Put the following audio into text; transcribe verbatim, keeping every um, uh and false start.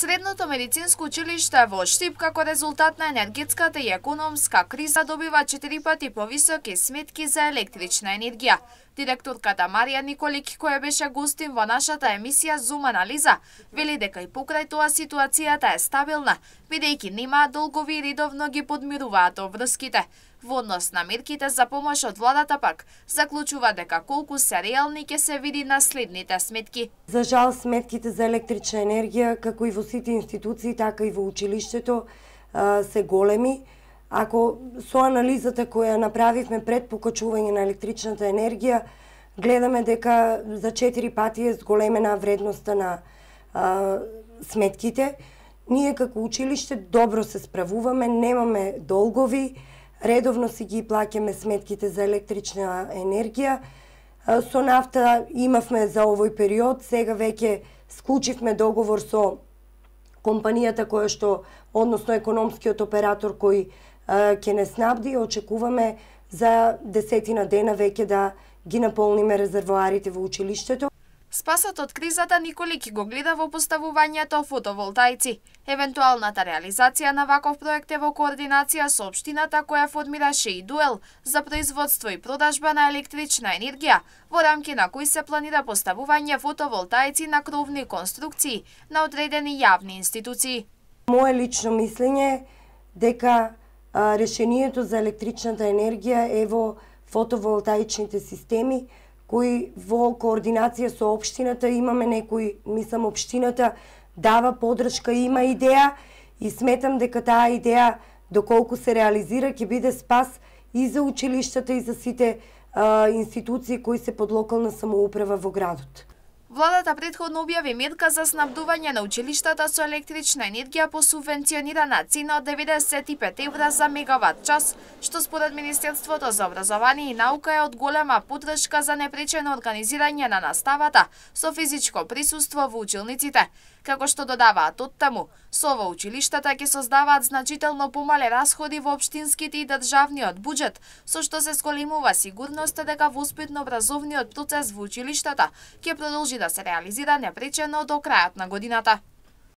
Средното медицинско училиште во Штип како резултат на енергетската и економска криза добива четири пати повисоки сметки за електрична енергија. Директорката Марија Николик, која беше гостин во нашата емисија Зум анализа, вели дека и покрај тоа ситуацијата е стабилна, бидејќи немаат долгови и редовно ги подмируваат обврските. Во однос на мерките за помош од владата пак, заклучува дека колку се реални ќе се види на следните сметки. За жал, сметките за електрична енергија, како и во сите институции, така и во училиштето, се големи. Ако со анализата која направивме пред покачување на електричната енергија, гледаме дека за четири пати е зголемена вредноста на а, сметките. Ние како училиште добро се справуваме, немаме долгови, редовно си ги плаќаме сметките за електрична енергија. Со нафта имавме за овој период, сега веќе склучивме договор со компанијата која што, односно економскиот оператор кој ќе не снабди, очекуваме за десетина дена веќе да ги наполниме резервоарите во училиштето. Спасот од кризата Николик го гледа во поставувањето фотоволтаици. Евентуалната реализација на ваков проект е во координација со општината која формираше и дуел за производство и продажба на електрична енергија, во рамки на кои се планира поставување фотоволтаици на кровни конструкции на одредени јавни институции. Моje лично мислење е дека а, решението за електричната енергија е во фотоволтаичните системи, кои во координација со општината имаме некои, мислам општината дава подршка, има идеја и сметам дека таа идеја доколку се реализира ќе биде спас и за училиштата и за сите а, институции кои се под локална самоуправа во градот. Владата претходно објави мерка за снабдување на училиштата со електрична енергија по субвенционирана цена од деветдесет и пет евра за мегават час, што според Министерството за образование и наука е од голема подршка за непречено организирање на наставата со физичко присуство во училниците. Како што додаваат оттаму, со ова училиштата ќе создаваат значително помале расходи во општинските и државниот буџет, со што се зголемува сигурноста дека воспитно-образовниот процес во училиштата ќе продолжи да се реализира непречено до крајот на годината.